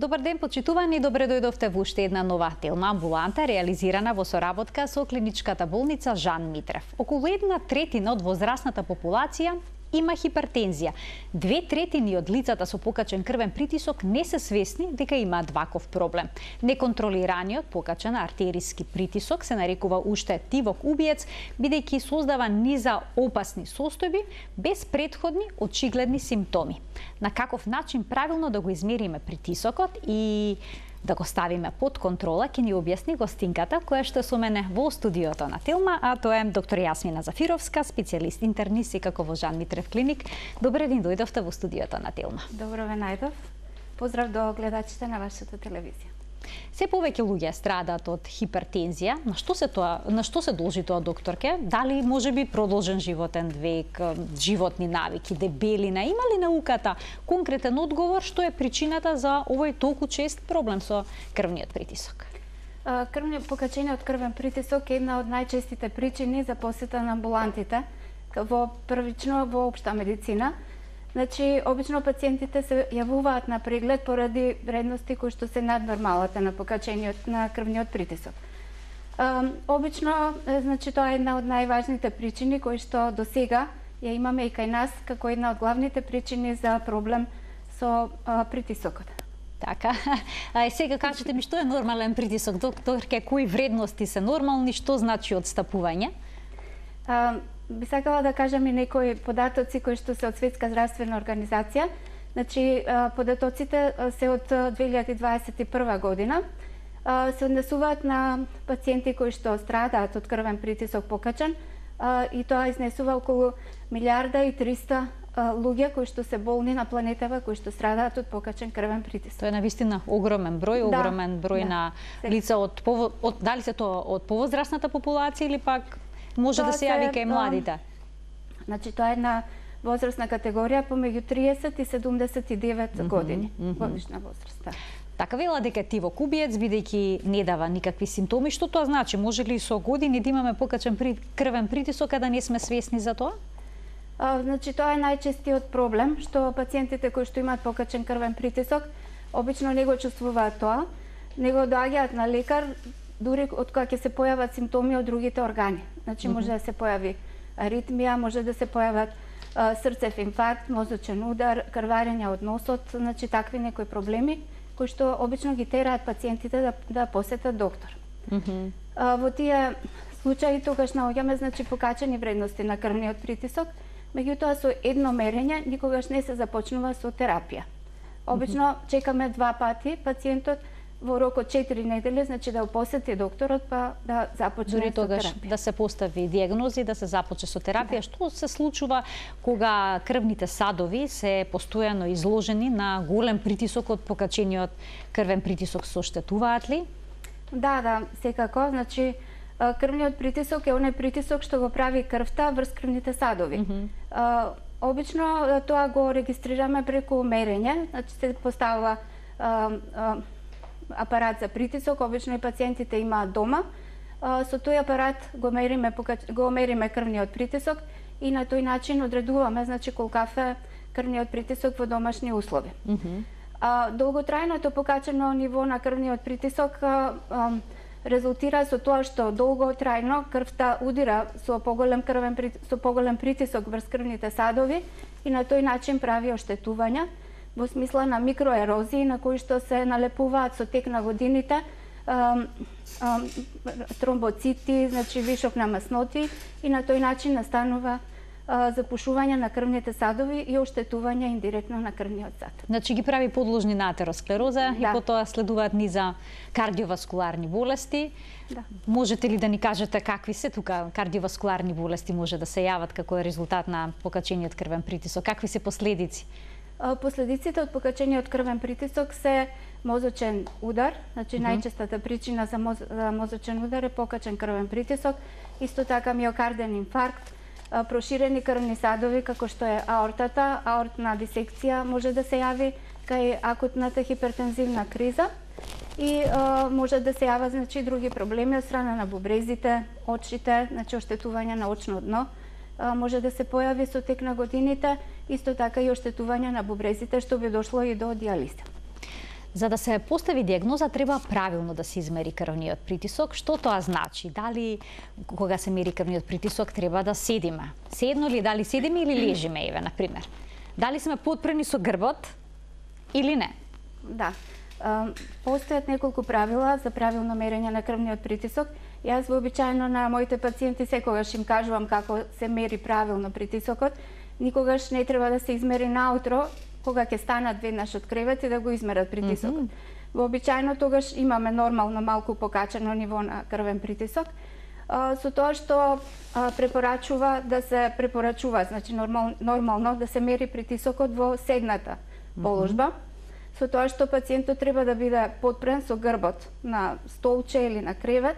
Добар ден, почитувани, добре дојдовте во уште една нова телма амбуланта, реализирана во соработка со клиничката болница Жан Митрев. Околу 1/3 од возрастната популација има хипертензија. 2/3 од лицата со покачен крвен притисок не се свесни дека имаат ваков проблем. Неконтролираниот покачен артериски притисок се нарекува уште тивок убиец, бидејќи создава низа опасни состојби без претходни очигледни симптоми. На каков начин правилно да го измериме притисокот и да го ставиме под контрола, ќе ни објасни гостинката која што со мене во студиото на Телма, а тоа е доктор Јасмина Зафировска, специјалист интернист и како во Жан Митрев клиник. Добре ден дојдовте во студиото на Телма. Добро ве најдов. Поздрав до гледачите на вашата телевизија. Се повеќе луѓе страдаат од хипертензија. На што се должи тоа, докторке? Дали можеби продолжен животен век, животни навики, дебелина? Има ли науката конкретен одговор што е причината за овој толку чест проблем со крвниот притисок? Покачениот крвен притисок е една од најчестите причини за посета на амбулантите првично во општа медицина. Значи, обично пациентите се јавуваат на преглед поради вредности кои што се над нормалата на покачениот на крвниот притисок. Обично, значи, тоа е една од најважните причини кои што до сега ја имаме и кај нас како една од главните причини за проблем со притисокот. Така. Сега кажете ми што е нормален притисок, докторке, кои вредности се нормални, што значи одстапување? Би сакала да кажам и некои податоци кои што се од Светска здравствена организација. Значи, податоците се од 2021 година. Се однесуваат на пациенти кои што страдаат од крвен притисок покачен и тоа изнесува околу 1.300.000 луѓе кои што се болни на планетава, кои што страдаат од покачен крвен притисок. Тоа е навистина огромен број, огромен број на лица од дали се тоа од повозрастната популација или пак може да се јави кај младите? Значи, тоа е една возрастна категорија помеѓу 30 и 79 години, годишна возраст. Така вела дека тивок убиец, бидејќи не дава никакви симптоми, што тоа значи? Може ли со години да имаме покачен крвен притисок, а да не сме свесни за тоа? Значи, тоа е најчестиот проблем, што пациентите кои што имаат покачен крвен притисок, обично не го чувствуваат тоа, него доаѓаат на лекар дури од кога ќе се појават симптоми од другите органи. Значи, може да се појави аритмија, може да се појават срцев инфаркт, мозочен удар, крварење од носот, значи такви некои проблеми кои што обично ги тераат пациентите да посетат доктор. Во тие случаи тогаш наоѓаме, значи, покачени вредности на крвниот притисок, меѓутоа со едно мерење никогаш не се започнува со терапија. Обично чекаме 2 пати пациентот во рок од 4 недели, значи да посети докторот па да започне дури со тогаш терапија. Да се постави дијагнози, да се започне со терапија. Што се случува кога крвните садови се постојано изложени на голем притисок од покачениот крвен притисок? Се оштетуваат ли? Да, секако. Значи, крвниот притисок е оној притисок што го прави крвта врз крвните садови. Обично тоа го регистрираме преку мерење, значи се поставува апарат за притисок, обично и пациентите имаат дома. Со тој апарат го мериме крвниот притисок и на тој начин одредуваме, значи, колкав е крвниот притисок во домашни услови. Долготрајното покачено ниво на крвниот притисок резултира со тоа што долготрајно крвта удира со поголем притисок врз крвните садови и на тој начин прави оштетувања во смисла на микроерозии на кои што се налепуваат со тек на годините тромбоцити, значи вишок на масноти и на тој начин настанува запушување на крвните садови и оштетување индиректно на крвниот сад. Значи ги прави подложни на атеросклероза и потоа следуваат низа кардиоваскуларни болести. Можете ли да ни кажете какви се тука кардиоваскуларни болести може да се јават како резултат на покачениот крвен притисок? Какви се последици? Последиците од покачениот крвен притисок се мозочен удар, значи најчестата причина за мозочен удар е покачен крвен притисок, исто така миокарден инфаркт, проширени крвни садови како што е аортата, аортна дисекција може да се јави кај акутната хипертензивна криза и може да се јават, значи, други проблеми од страна на бубрезите, очите, значи оштетување на очно дно, може да се појави со тек на годините, исто така и оштетување на бубрезите што би дошло и до дијализа. За да се постави диагноза треба правилно да се измери крвниот притисок. Што тоа значи? Дали кога се мери крвниот притисок треба да седиме? Седно ли, дали седиме или лежиме, еве, например? Дали сме потпрени со грбот или не? Да. Постојат неколку правила за правилно мерење на крвниот притисок. Јас вообичаено на моите пациенти секогаш им кажувам како се мери правилно притисокот. Никогаш не треба да се измери наутро, кога ќе станат веднаш од кревет и да го измерат притисокот. Вообичаено тогаш имаме нормално малку покачено ниво на крвен притисок. Со тоа што препорачува да се препорачува, значи нормално да се мери притисокот во седната положба. Со тоа што пациентот треба да биде потпрен со грбот на столче или на кревет.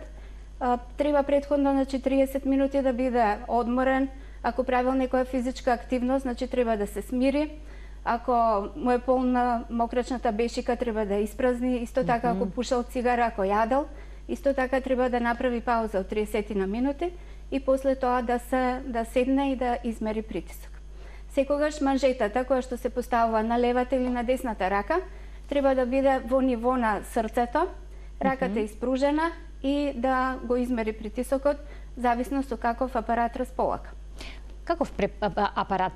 Треба претходно, значи 30 минути да биде одморен. Ако правил некоја физичка активност, значи треба да се смири. Ако му е полна мокрачната бешика, треба да испразни. Исто така, ако пушал цигара, ако јадел, исто така треба да направи пауза од 30 на минути и после тоа да седне и да измери притисок. Секогаш манжетата која што се поставува на левата или на десната рака треба да биде во ниво на срцето, раката испружена и да го измери притисокот зависно со каков апарат располага. Каков апарат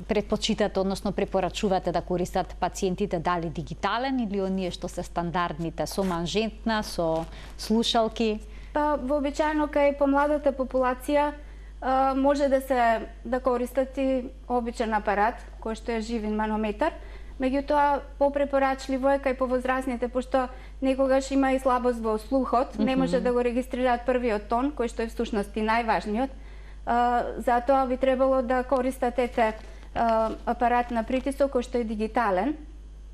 предпочитате, односно препорачувате да користат пациентите, дали дигитален или оние што се стандардните, со манжетна, со слушалки? Па вообичаено кај помладата популација може да користат и обичен апарат кој што е живин манометар. Меѓутоа попрепорачливо е кај повозрасните, пошто некогаш има и слабост во слухот, не може да го регистрираат првиот тон, кој што е всушност и најважниот. Затоа би требало да користате апарат на притисок кој што е дигитален.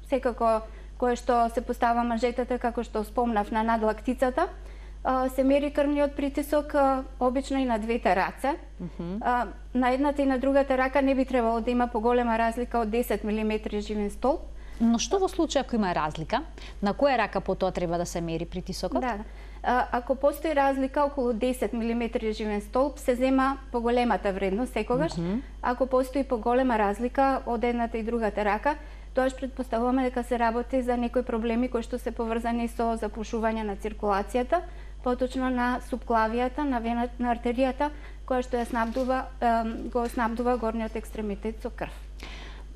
Секако кој што се постава манжетата, како што спомнав, на надлактицата. Се мери крвниот притисок обично и на двете раце. На едната и на другата рака не би требало да има поголема разлика од 10 мм живин столб. Но што во случај ако има разлика? На која рака потоа треба да се мери притисокот? Да. Ако постои разлика околу 10 мм живен столб, се зема поголемата вредност секогаш. Ако постои поголема разлика од едната и другата рака, тоаш претпоставуваме дека се работи за некои проблеми кои што се поврзани со запушување на циркулацијата, поточно на субклавијата, на вената, на артеријата, која што го снабдува горниот екстремитет со крв.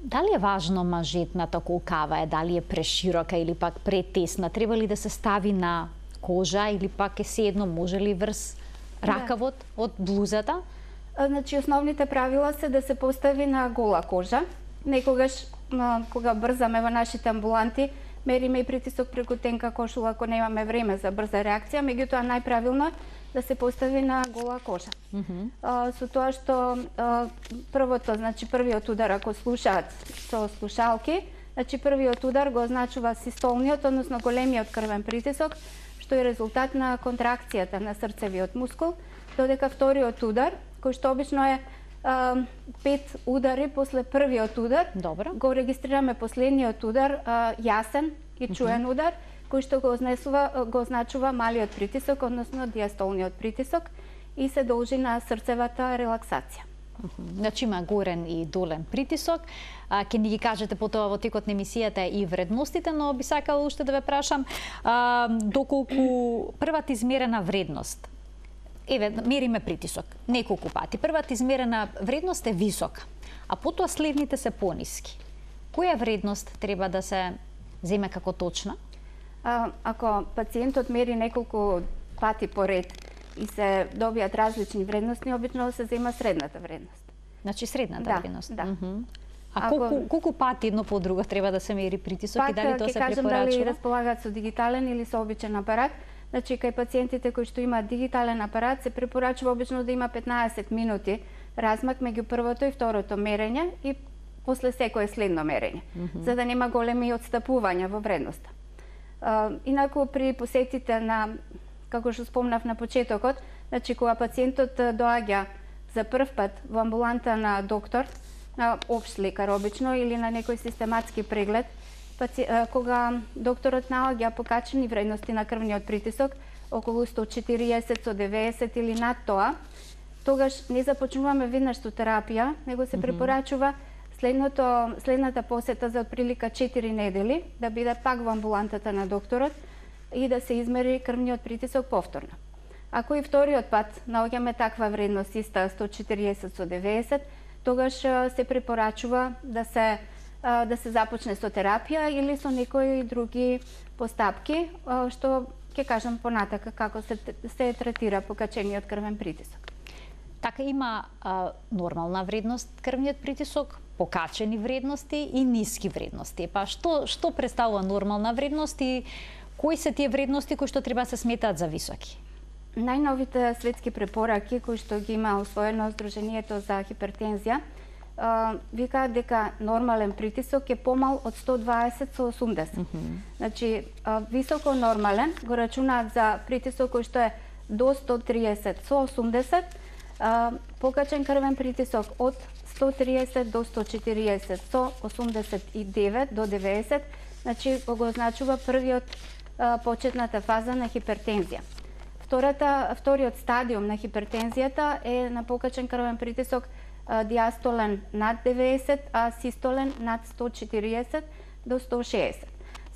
Дали е важно манжетната колкава е, дали е преширока или пак претесна? Треба ли да се стави на кожа или пак е седно, може ли врз ракавот од блузата? Значи основните правила се да се постави на гола кожа. Некогаш кога брзаме во нашите амбуланти, мериме и притисок преку тенка кошула ако немаме време за брза реакција, меѓутоа најправилно да се постави на гола кожа. Со тоа што првото, значи првиот удар ако слушаат со слушалки, значи првиот удар го означува систолниот, односно големиот крвен притисок, што е резултат на контракцијата на срцевиот мускул, додека вториот удар, кој што обично е 5 удари после првиот удар, го регистрираме последниот удар, јасен и чуен удар, кој што го означува малиот притисок, односно диастолниот притисок и се должи на срцевата релаксација. Значи има горен и долен притисок. Ќе ни ги кажете потоа во текот на емисијата и вредностите, но би сакала уште да ве прашам доколку првата измерена вредност, еве, мериме притисок неколку пати. Првата измерена вредност е висока, а потоа следните се пониски. Која вредност треба да се земе како точна? Ако пациентот мери неколку пати поред и се добијат различни вредности, обично се зема средната вредност. Значи средната вредност. Да. А колку пати едно по друго треба да се мери притисок и дали тоа се препорачува? Пак ќе кажам дали располагаат со дигитален или со обичен апарат. Значи, кај пациентите кои што имаат дигитален апарат, се препорачува обично да има 15 минути размак меѓу првото и второто мерење и после секое следно мерење, за да нема големи отстапувања во вредноста. Инаку при посетите на, како што спомнав на почетокот, значи кога пациентот доаѓа за прв пат во амбуланта на доктор, на општ лекар обично или на некој систематски преглед, кога докторот наоѓа покачени вредности на крвниот притисок, околу 140, 190 или над тоа, тогаш не започнуваме веднаш со терапија, него се препорачува следната посета за отприлика 4 недели да биде пак во амбулантата на докторот и да се измери крвниот притисок повторно. Ако и вториот пат наоѓаме таква вредност иста 140/90, тогаш се препорачува да се започне со терапија или со некои други постапки, што ќе кажам понатака како се третира покачениот крвен притисок. Така има нормална вредност крвниот притисок, покачени вредности и ниски вредности. Па што представува нормална вредност и кои се тие вредности кои што треба да се сметаат за високи? Најновите светски препораки кои што ги има усвоено Сдруженијето за хипертензија викаат дека нормален притисок е помал од 120/80. Значи, високо нормален го рачунаат за притисок кој што е до 130/80, покачен крвен притисок од 130 до 140/89 значи го означува првиот почетната фаза на хипертензија. Вториот стадиум на хипертензијата е на покачен крвен притисок диастолен над 90, а систолен над 140 до 160.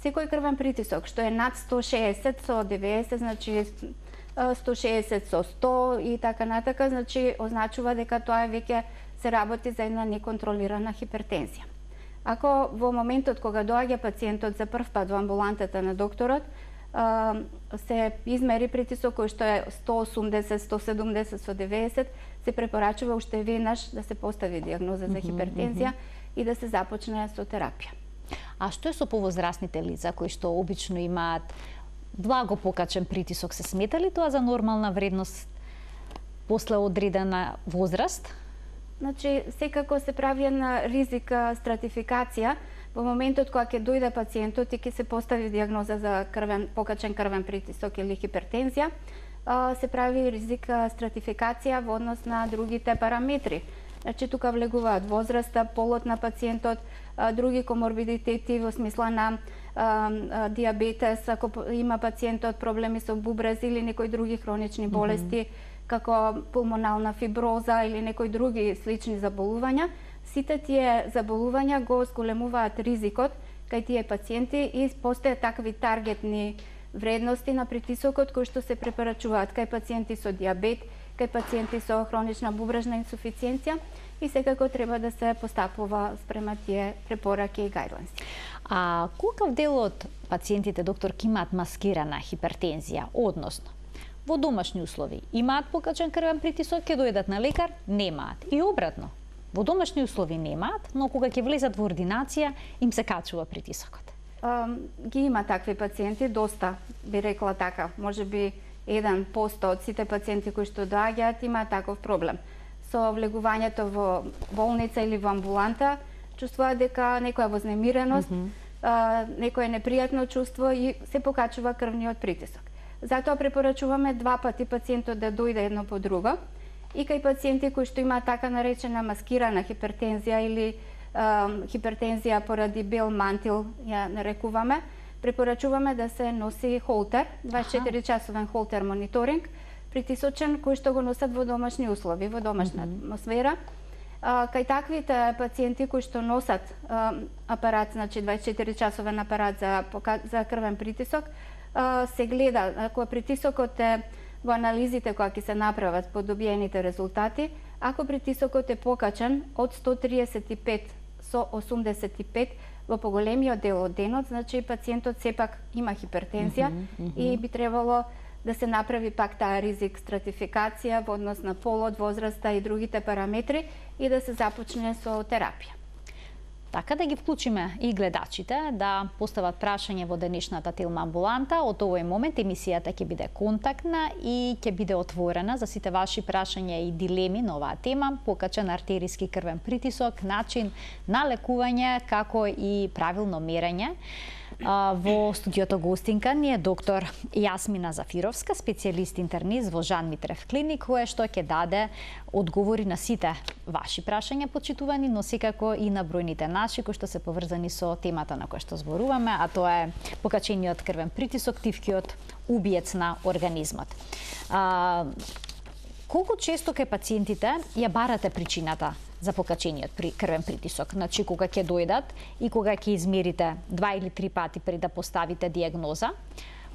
Секој крвен притисок што е над 160 со 90, значи 160 со 100 и така натака, значи означува дека тоа веќе се работи за една неконтролирана хипертензија. Ако во моментот кога доаѓа пациентот за прв пат во амбулантата на докторот, се измери притисок кој што е 180, 170 со 90, се препорачува уште веднаш да се постави диагноза за хипертензија и да се започне со терапија. А што е со повозрасните лица кои што обично имаат благо покачен притисок? Се смета ли тоа за нормална вредност после одредена возраст? Значи, секако се прави една ризика стратификација во моментот кога ќе дојде пациентот и ќе се постави диагноза за покачен крвен притисок или хипертензија, се прави ризика стратификација во однос на другите параметри. Значи, тука влегуваат возраста, полот на пациентот, други коморбидитети во смисла на диабетес, ако има пациентот проблеми со бубрез или некои други хронични болести, како пулмонална фиброза или некои други слични заболувања, сите тие заболувања го зголемуваат ризикот кај тие пациенти и постојат такви таргетни вредности на притисокот кои што се препорачуваат кај пациенти со диабет, кај пациенти со хронична бубрежна инсуфициенција и секако треба да се постапува спрема тие препораки и гајдлайнси. А колкав дел од пациентите, доктор, ки имаат маскирана хипертензија, односно во домашни услови имаат покачен крвен притисок, ќе дојдат на лекар, немаат. И обратно, во домашни услови немаат, но кога ќе влезат во ординација, им се качува притисокот. Ги има такви пациенти, доста, би рекла така, можеби 1% од сите пациенти кои што доаѓаат имаат таков проблем. Со влегувањето во болница или во амбуланта, чувствуваат дека некоја вознемиреност, некое непријатно чувство и се покачува крвниот притисок. Затоа препорачуваме 2 пати пациентот да дојде едно по друго и кај пациенти кои што имаат така наречена маскирана хипертензија или хипертензија поради бел мантил, ја нарекуваме, препорачуваме да се носи холтер, 24-часовен холтер мониторинг, притисочен, кој што го носат во домашни услови, во домашна атмосфера. Кај таквите пациенти кои што носат апарат, значи 24-часовен апарат за крвен притисок, се гледа, ако притисокот е во анализите кои ќе се направат по добиените резултати, ако притисокот е покачен од 135 со 85 во поголемиот дел од денот, значи пациентот сепак има хипертензија и би требало да се направи пак таа ризик стратификација во однос на полот, возраста и другите параметри и да се започне со терапија. Така да ги вклучиме и гледачите да постават прашање во денешната Телма амбуланта. Од овој момент емисијата ќе биде контактна и ќе биде отворена за сите ваши прашања и дилеми на оваа тема, покачен артериски крвен притисок, начин на лекување, како и правилно мерење. Во студиото гостинка ни е доктор Јасмина Зафировска, специјалист интернист во Жан Митрев клиник, која што ќе даде одговори на сите ваши прашања, почитувани, но секако и на бројните наши кои што се поврзани со темата на која што зборуваме, а тоа е покачениот крвен притисок, тивкиот убиец на организмот. Колку често кај пациентите ја барате причината за покачениот крвен притисок. Значи, кога ќе дојдат и кога ќе измерите 2 или 3 пати пред да поставите диагноза,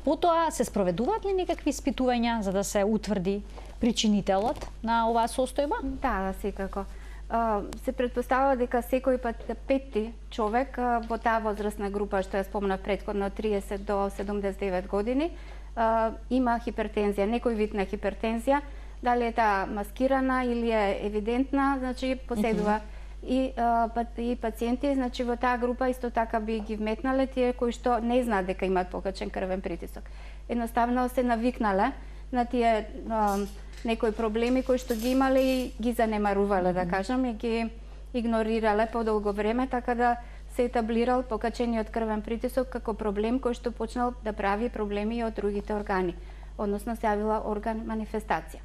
потоа се спроведуваат ли некакви испитувања за да се утврди причинителот на оваа состојба? Да, секако. Се предпоставува дека секој пети човек во таа возрастна група што ја спомнав претходно, 30 до 79 години, има хипертензија, некој вид на хипертензија, дали е таа маскирана или е евидентна, значи поседува и пациенти, значи во таа група исто така би ги вметнале тие кои што не знаат дека имаат покачен крвен притисок. Едноставно се навикнале на тие некои проблеми кои што ги имале и ги занемарувале, да кажам, и ги игнорирале подолго време, така да се етаблирал покачениот крвен притисок како проблем кој што почнал да прави проблеми и од другите органи, односно се јавила орган манифестација.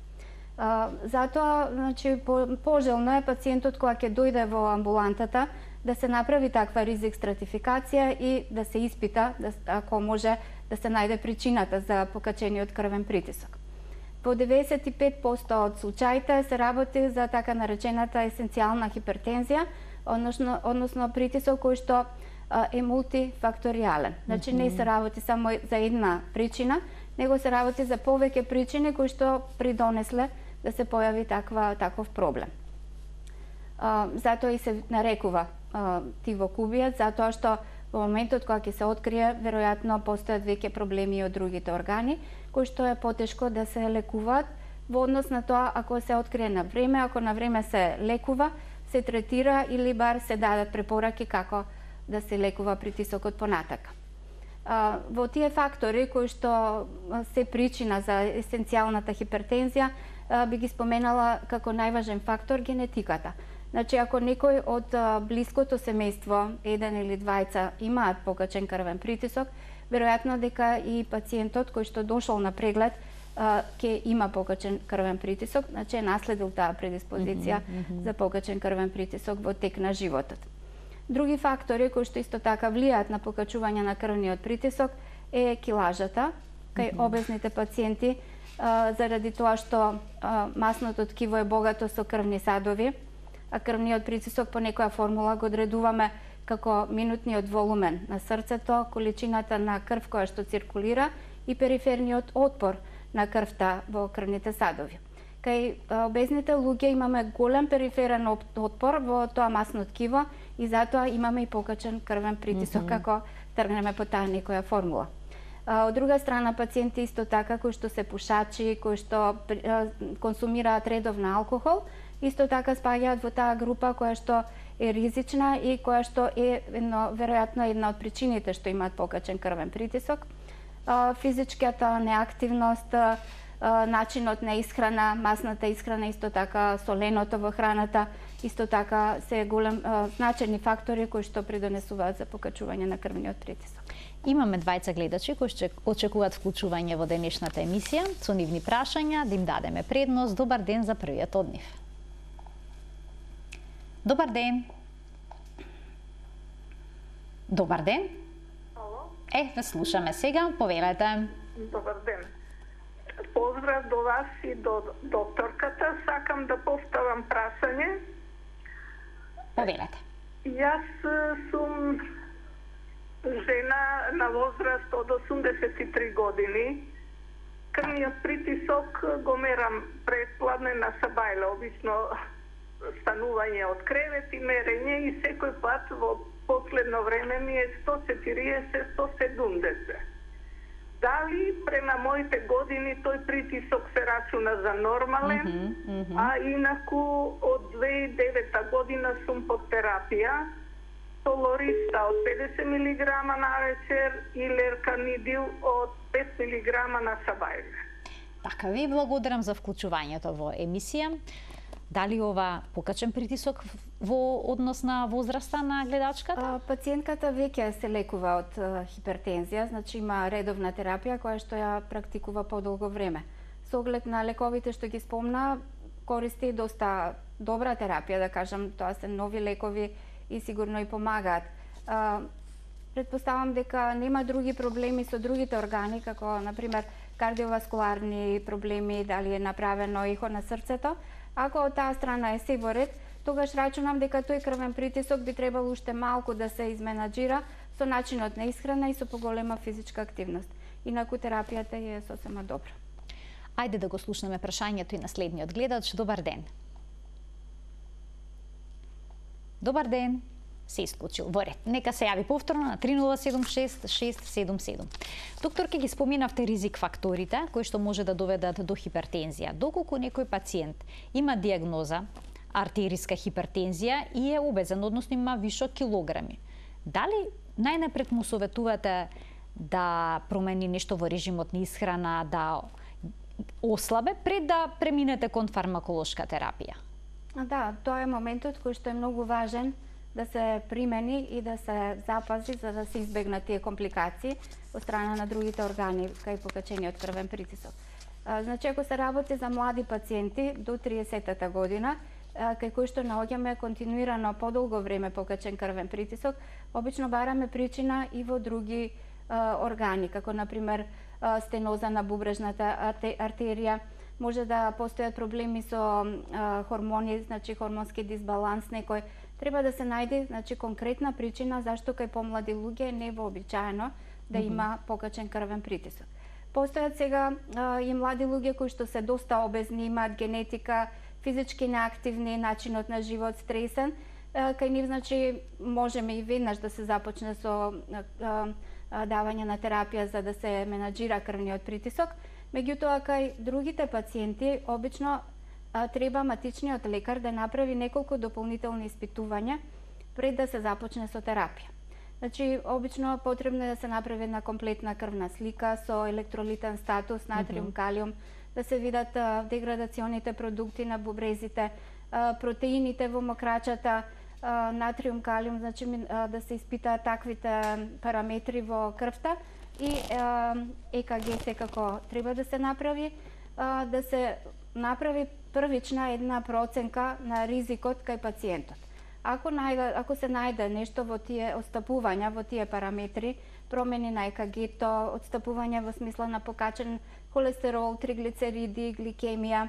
Затоа, значи, пожелно е пациентот кога ќе дојде во амбулантата да се направи таква ризик стратификација и да се испита, ако може, да се најде причината за покачениот крвен притисок. Во 95% од случаите се работи за така наречената есенцијална хипертензија, односно притисок кој што е мултифакторијален. Значи не се работи само за една причина, него се работи за повеќе причини кои што придонесле да се појави таков проблем. Затоа и се нарекува тивокубијат, затоа што во моментот кога ќе се открие, веројатно постојат веќе проблеми од другите органи, кои што е потешко да се лекуваат во однос на тоа ако се открие на време, ако на време се лекува, се третира или бар се дадат препораки како да се лекува притисокот понатака. Во тие фактори кои што се причина за есенцијалната хипертензија, би ги споменала како најважен фактор генетиката. Значи, ако некој од блиското семејство, еден или двајца, имаат покачен крвен притисок, веројатно дека и пациентот кој што дошол на преглед ќе има покачен крвен притисок, значи е наследил таа предиспозиција за покачен крвен притисок во тек на животот. Други фактори кои што исто така влијаат на покачување на крвниот притисок е килажата кај обезните пациенти, заради тоа што масното ткиво е богато со крвни садови, а крвниот притисок по некоја формула го одредуваме како минутниот волумен на срцето, количината на крв која што циркулира и периферниот отпор на крвта во крвните садови. Кај обезните луѓе имаме голем периферен отпор во тоа масно ткиво и затоа имаме и покачен крвен притисок ако тргнеме по таа некоја формула. Од друга страна, пациенти исто така кои што се пушачи, кои што консумираат редовно алкохол, исто така спаѓаат во таа група која што е ризична и која што е веројатно една од причините што имаат покачен крвен притисок. Физичката неактивност, начинот на исхрана, масната исхрана, исто така соленото во храната, исто така се значени фактори кои што придонесуваат за покачување на крвниот притисок. Имаме двајца гледачи кои што очекуваат вклучување во денешната емисија, со нивни прашања, да им дадеме предност. Добар ден за првиот од нив. Добар ден. Добар ден. Ало? Ве слушаме сега, повелете. Добар ден. Поздрав до вас и до докторката. Сакам да поставам прашање. Повелете. Јас сум жена на возраст од 83 години. Крвниот притисок го мерам предпладне на сабајле, обично станување од кревет и мерење и секој пат во последно време ми е 140-170. Дали према моите години тој притисок се рачуна за нормален, а инаку од 2009 година сум под терапија, Толориста од 50 мг на вечер и Лерканидил од 5 мг на сабајле. Така, ви благодарам за вклучувањето во емисија. Дали ова покачен притисок во однос на возраста на гледачката? Пациентката веќе се лекува од хипертензија, значи има редовна терапија која што ја практикува подолго време. Со оглед на лековите што ги спомна, користи доста добра терапија, да кажам, тоа се нови лекови и сигурно и помагаат. Предпоставам дека нема други проблеми со другите органи, како, например, кардиоваскуларни проблеми, дали е направено ехо на срцето. Ако од таа страна е се во ред, тогаш рачунам дека тој крвен притисок би требало уште малку да се изменаџира со начинот на исхрана и со поголема физичка активност. Инаку терапијата е сосема добра. Ајде да го слушнеме прашањето и на следниот гледач. Добар ден. Добар ден. Се исклучил. Во ред. Нека се јави повторно на 3076-677. Доктор, ке ги споминавте ризик факторите кои што може да доведат до хипертензија. Доколку некој пациент има диагноза артериска хипертензија и е обезен, односно има вишок килограми, дали најнапред му советувате да промени нешто во режимот на исхрана, да ослабе пред да преминете кон фармаколошка терапија? Да, тоа е моментот кој што е многу важен да се примени и да се запази за да се избегнат тие компликации од страна на другите органи кај покачениот крвен притисок. Значи, ако се работи за млади пациенти до 30-та година, кај кои што наоѓаме континуирано подолго време покачен крвен притисок, обично бараме причина и во други органи, како например стеноза на бубрежната артерија, може да постојат проблеми со хормони, значи хормонски дисбаланс некој. Треба да се најде, значи, конкретна причина зашто кај помлади луѓе е невообичаено да има покачен крвен притисок. Постојат сега и млади луѓе кои што се доста обезни, имаат генетика, физички неактивни, начинот на живот стресен, кај нив, значи, можеме и веднаш да се започне со давање на терапија за да се менаџира крвниот притисок. Меѓутоа, кај другите пациенти, обично треба матичниот лекар да направи неколку дополнителни испитувања пред да се започне со терапија. Значи, обично потребно е да се направи една комплетна крвна слика со електролитен статус, натриум, калиум, да се видат деградационите продукти на бубрезите, протеините во мокрачата, натриум, калиум, значи да се испитаат таквите параметри во крвта и ЕКГ секако треба да се направи, да се направи првична една проценка на ризикот кај пациентот. Ако се најде нешто во тие отстапувања, во тие параметри, промени на ЕКГ-то, отстапување во смисла на покачен холестерол, триглицериди, гликемија,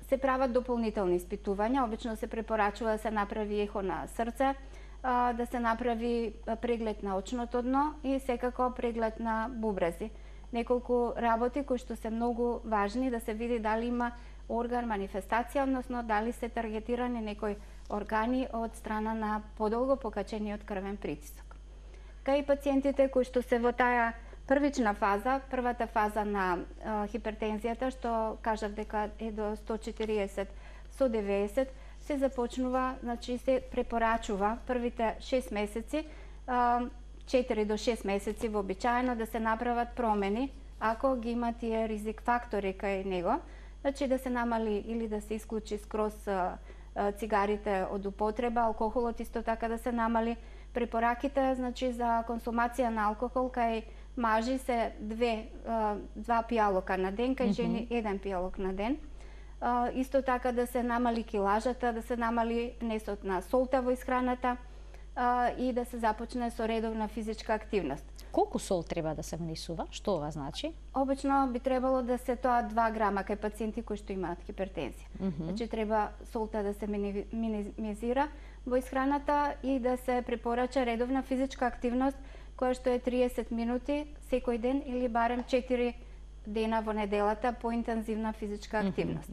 се прават дополнителни испитувања. Обично се препорачува да се направи ехо на срце, да се направи преглед на очното дно и секако преглед на бубрези. Неколку работи кои што се многу важни да се види дали има орган манифестација, односно дали се таргетирани некои органи од страна на подолго покачениот крвен притисок. Кај пациентите кои што се во таа првична фаза, првата фаза на хипертензијата, што кажав дека е до 140 со 90, се започнува, значи се препорачува првите 6 месеци, 4 до 6 месеци вообичаено да се направат промени, ако ги има тие ризик фактори кај него, значи да се намали или да се исклучи скроз цигарите од употреба, алкохолот исто така да се намали. Препораките, значи, за консумација на алкохол кај мажи се 2 пијалока на ден, кај жени 1 пијалок на ден. Исто така да се намали килажата, да се намали внесот на солта во исхраната и да се започне со редовна физичка активност. Колку сол треба да се внесува? Што ова значи? Обично би требало да се тоа 2 грама кај пациенти кои што имаат хипертензија. Значи треба солта да се минимизира во исхраната и да се препорача редовна физичка активност која што е 30 минути секој ден или барем 4 дена во неделата по интензивна физичка активност.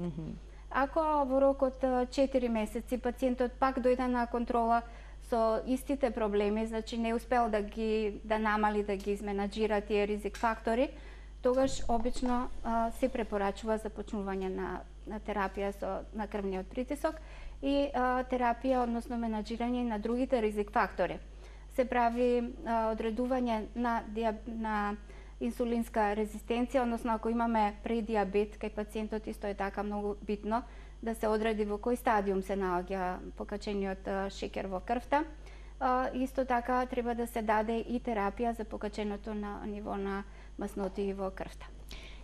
Ако во рок од 4 месеци пациентот пак дојде на контрола со истите проблеми, значи не успел да намали, да ги изменаџира тие ризик фактори, тогаш обично се препорачува започнување на терапија на крвниот притисок и терапија, односно менаџирање на другите ризик фактори. Се прави одредување на инсулинска резистенција, односно ако имаме предиабет кај пациентот, исто е така многу битно да се одреди во кој стадиум се наоѓа покачениот шекер во крвта. Исто така треба да се даде и терапија за покаченото на ниво на масноти во крвта.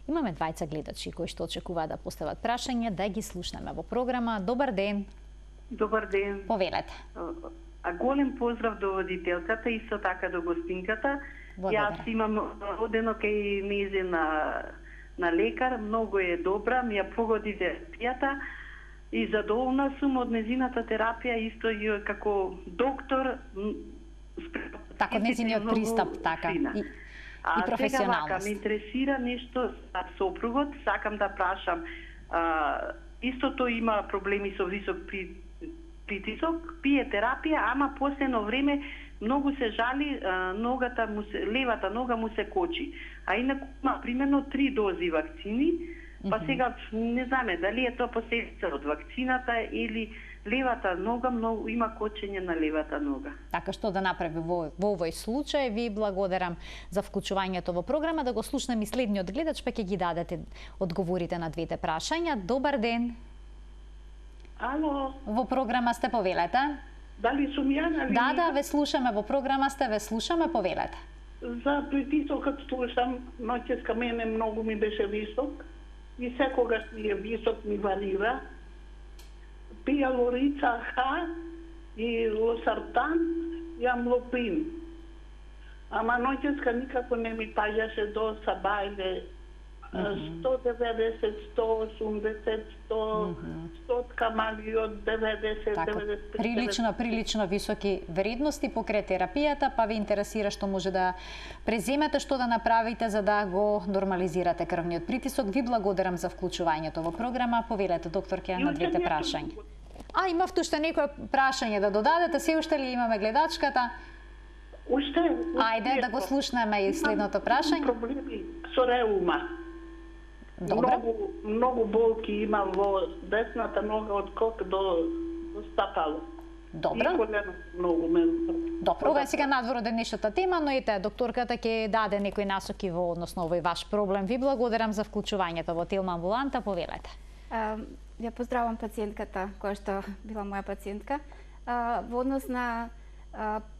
Имаме двајца гледачи кои што очекуваат да постават прашања, да ги слушнеме во програма. Добар ден. Добар ден. Повелете. А голем поздрав до водителката и исто така до гостинката. Јас имам одено кај нејзе на лекар, многу е добра, ми ја погоди терапијата. и задоволна сум од незината терапија, исто и како доктор. Така, незиниот пристап, така, и професионалност. Сега вака, ме интересира нешто за сопругот, сакам да прашам, исто тој има проблеми со висок притисок, пие терапија, ама последно време многу се жали, левата нога му се кочи. А инаку има примерно 3 дози вакцини, па сега не знаме дали е тоа последица од вакцината или левата нога, многу има кочење на левата нога. Така, што да направи во овој случај? Ви благодарам за вклучувањето во програма. Да го слушнем и следниот гледач, па ќе ги дадете одговорите на двете прашања. Добар ден. Ало. Во програма сте, повелете. Дали сум ја на линија? Да, ве слушаме, во програма сте, ве слушаме, повелете. За притисокот слушам, ноќеска мене многу ми беше висок и секогаш ми е висок, ми варира. Пија лорица Х и лосартан и амлоприн. Ама ноќеска никако не ми паѓаше до сабајле. 190, 180, 100 камали од 90, така, 95. Прилично високи вредности покрај терапијата, па ви интересира што може да преземете, што да направите за да го нормализирате крвниот притисок. Ви благодарам за вклучувањето во програма. Повелете, докторке, на двете прашања. Имавте уште некое прашање да додадете? Се уште ли имаме гледачката? Уште. Ајде да го слушнеме и следното прашање. Проблеми со реума. Добро. Многу болки имам во десната нога од кок до стапало. Добро. И колено многу ме. Добро, ова е сега надвор од денешната тема, но ете, докторката ќе даде некои насоки во односно овој ваш проблем. Ви благодарам за вклучувањето во Телма амбуланта, повелете. Ја поздравам пациентката која што била моја пациентка. Во однос на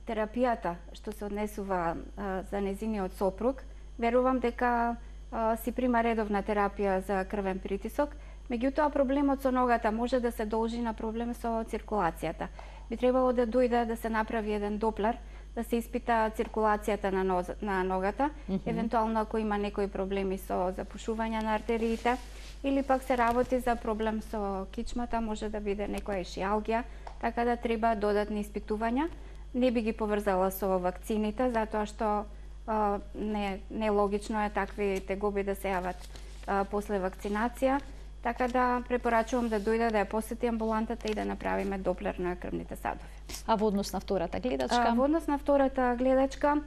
терапијата што се однесува за незиниот сопруг, верувам дека си прима редовна терапија за крвен притисок. Меѓутоа, проблемот со ногата може да се должи на проблем со циркулацијата. Би требало да дојде да се направи еден доплер, да се испита циркулацијата на ногата, евентуално ако има некои проблеми со запушување на артериите, или пак се работи за проблем со кичмата, може да биде некоја ишиалгија, така да треба додатни испитувања. Не би ги поврзала со вакцините, затоа што не логично е такви тегоби да се јават после вакцинација, така да препорачувам да дојде да ја посети амбулантата и да направиме доплер на крвните садови. А во однос на втората гледачка? Во однос на втората гледачка,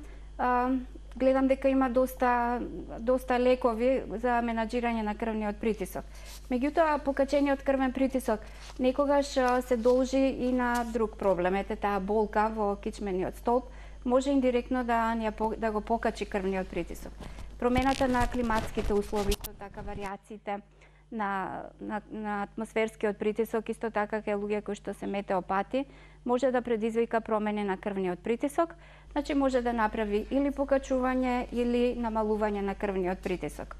гледам дека има доста лекови за менаџирање на крвниот притисок. Меѓутоа, покачениот крвен притисок некогаш се должи и на друг проблем. Ете, таа болка во кичмениот столб може индиректно да го покачи крвниот притисок. Промената на климатските услови, исто така варијациите на атмосферскиот притисок, исто така кај луѓе кои што се метеопати, може да предизвика промени на крвниот притисок, значи може да направи или покачување или намалување на крвниот притисок.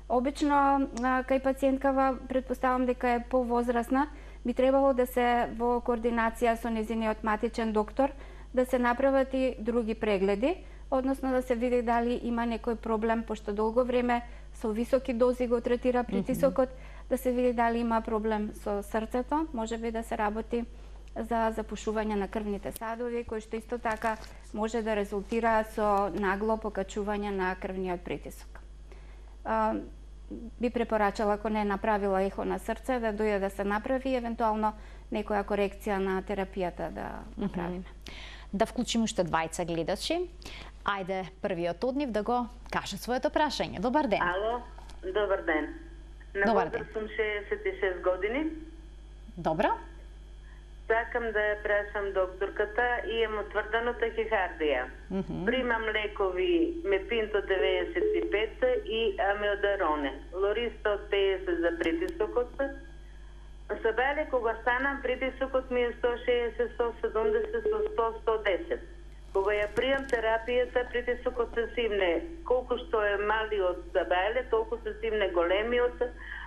Обично кај пациенткава, претпоставам дека е повозрасна, би требало да се во координација со незиниот матичен доктор да се направат и други прегледи, односно да се види дали има некој проблем, пошто долго време со високи дози го третира притисокот, да се види дали има проблем со срцето, може би да се работи за запушување на крвните садови, кои што исто така може да резултира со нагло покачување на крвниот притисок. Би препорачала, ако не е направила ехо на срце, да дојде да се направи, евентуално некоја корекција на терапијата да направиме. Да вклучим уште двајца гледачи. Ајде, првиот од нив да го каже своето прашање. Добар ден. Ало, добар ден. На возраст сум 66 години. Добро. Сакам да ја прашам докторката и имам утврдено тахикардија. Примам лекови Мепинто 95 и Амиодароне. Лорис 150 за притисокот. Сабеле, кога станам, притисокот ми е 160, 170, 100, 110. Кога ја пријам терапијата, притисокот се симне. Колку што е малиот сабеле, толку се симне големиот,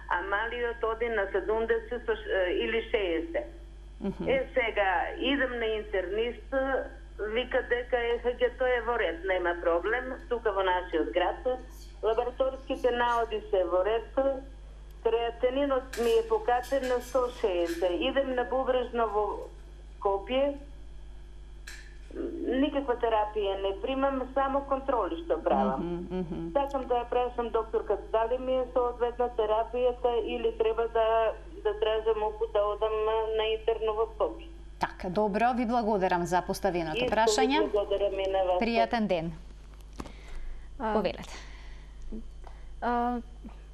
а малиот оди на 70 или 60. Сега, идем на интернист, вика дека ЕХГ-то е во ред, нема проблем, тука во нашиот град. Лабораторските наоди се во ред, Креатининот ми е покачен на 160. Идем на бубрежно во Скопје. Никаква терапија не примам, само контроли што правам. Сакам да ја прашам докторката дали ми е соодветна терапијата или треба да тражам упута одам на интерно во Скопје. Така, добро, ви благодарам за поставеното прашање. Благодарам и на вас. Пријатен ден. Повелете.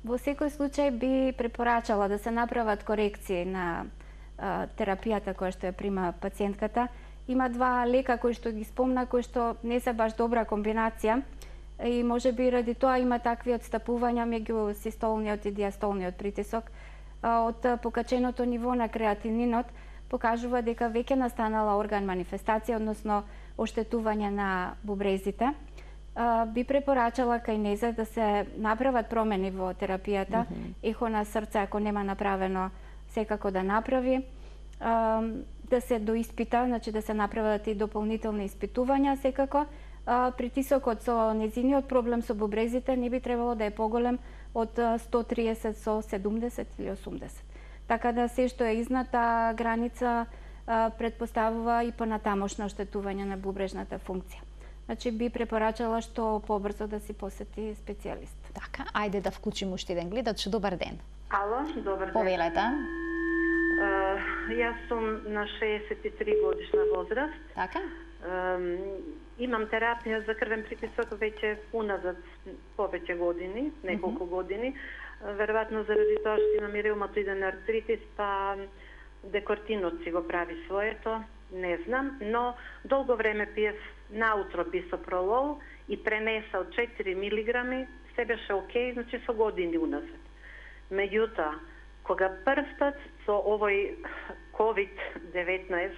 Во секој случај би препорачала да се направат корекции на терапијата која што ја прима пациентката. Има два лека кои што ги спомна, кои што не се баш добра комбинација и може би ради тоа има такви отстапувања меѓу систолниот и диастолниот притисок. Од покаченото ниво на креатининот покажува дека веќе настанала орган манифестација, односно оштетување на бубрезите. Би препорачала кај незе да се направат промени во терапијата. Ехо на срце, ако нема направено, секако да направи. Да се доиспита, значи да се направат и дополнителни испитувања секако. Притисокот со незиниот проблем со бубрезите не би требало да е поголем од 130 со 70 или 80. Така да се што е изнад таа граница предпоставува и понатамошно оштетување на бубрежната функција. Значи би препорачала што побрзо да си посети специјалист. Така, ајде да вклучим уште еден гледач. Добар ден. Ало, добар ден. Повелете. Јас сум на 63 годишна возраст. Така. Имам терапија за крвен притисок веќе уназад повеќе години, неколку години. Веројатно заради тоа што имам и реуматоиден артритис, па декортинот си го прави своето, не знам, но долго време пиев наутро бисопролол и пренеса од 4 милиграми, се беше окей, значи со години уназад. Меѓутоа, кога првпат со овој COVID-19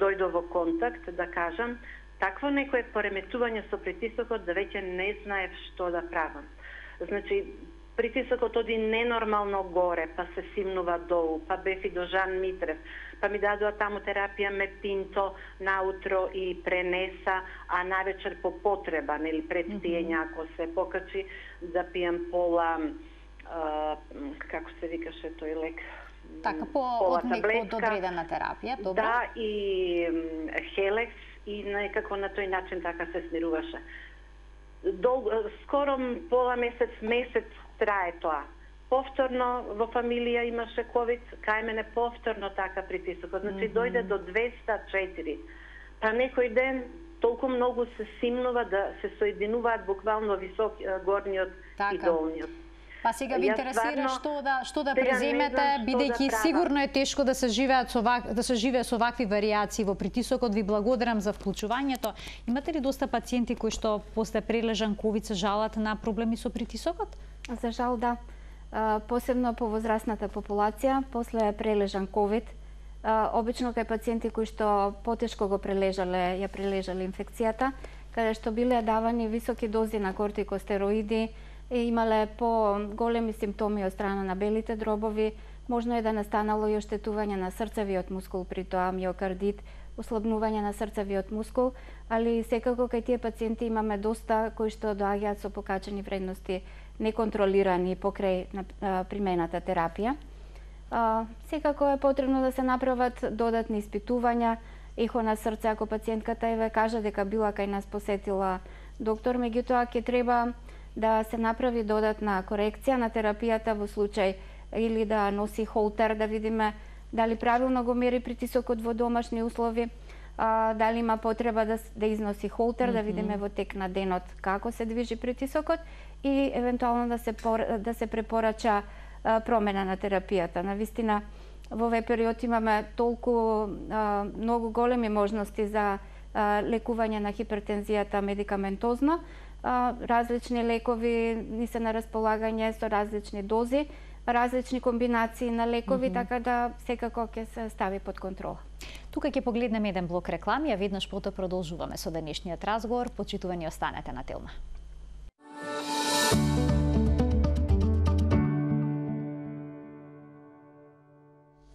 дојдо во контакт, да кажам, такво некое пореметување со притисокот да веќе не знаев што да правам. Значи, притисокот оди ненормално горе, па се симнува долу, па бев и до Жан Митрев, па ми дадоа таму терапија мепинто наутро и пренеса, а навечер по потреба, нели пред пиење, ако се покачи, да пијам пола, како се викаше тој лек? Така, од одредена терапија, добро? Да, и Хелекс, и некако на тој начин така се смируваше. Скоро пола месец трае тоа. Повторно во фамилија имаше ковид, кај мене повторно така притисокот. Значи дојде до 204. Па некој ден толку многу се симнува да се соединуваат буквално висок горниот и долниот. Па сега ви интересира што да преземете, бидејќи сигурно е тешко да се живее со вакви варијации во притисокот. Ви благодарам за вклучувањето. Имате ли доста пациенти кои што после прележан ковид се жалат на проблеми со притисокот? За жал да. Посебно по возрастната популација, после прележан ковид, обично кај пациенти кои што потешко ја прележале инфекцијата, каде што биле давани високи дози на кортикостероиди, имале по-големи симптоми од страна на белите дробови, можно е да настанало и оштетување на срцевиот мускул, при тоа миокардит, ослабнување на срцевиот мускул, али секако кај тие пациенти имаме доста кои што доаѓаат со покачени вредности неконтролирани покрај примената терапија. Секако е потребно да се направат додатни испитувања, ехо на срце, ако пациентката еве кажа дека била кај нас посетила доктор, меѓутоа ќе треба да се направи додатна корекција на терапијата во случај или да носи холтер, да видиме дали правилно го мери притисокот во домашни услови, дали има потреба да износи холтер, да видиме во тек на денот како се движи притисокот и евентуално да се препорача промена на терапијата. Навистина, во овој период имаме толку многу големи можности за лекување на хипертензијата медикаментозно. Различни лекови ни се на располагање со различни дози, различни комбинации на лекови, така да секако ќе се стави под контрола. Тука ќе погледнеме еден блок реклами, а веднаш потоа продолжуваме со денешниот разговор. Почитувани, останете на Телма.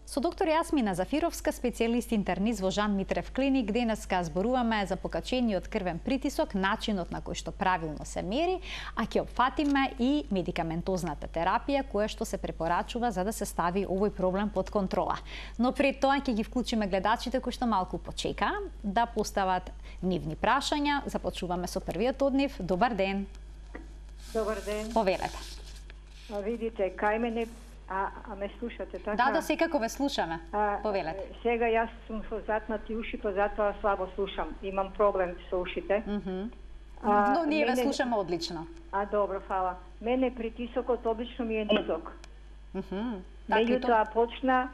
Со доктор Јасмина Зафировска, специјалист интернист во Жан Митрев клиник, денеска зборуваме за покачениот крвен притисок, начинот на кој што правилно се мери, а ќе опфатиме и медикаментозната терапија која што се препорачува за да се стави овој проблем под контрола. Но пред тоа ќе ги вклучиме гледачите кои што малку почека да постават нивни прашања. Започнуваме со првиот од нив. Добар ден. Добар ден. Повелете. Видите, кај мене ме слушате, така? Да, секако ве слушаме. Повелете. Сега јас сум со затнати уши, па затоа слабо слушам. Имам проблем со ушите. Но ние ве слушаме одлично. Добро, фала. Мене притисокот обично ми е низок. Меѓутоа почна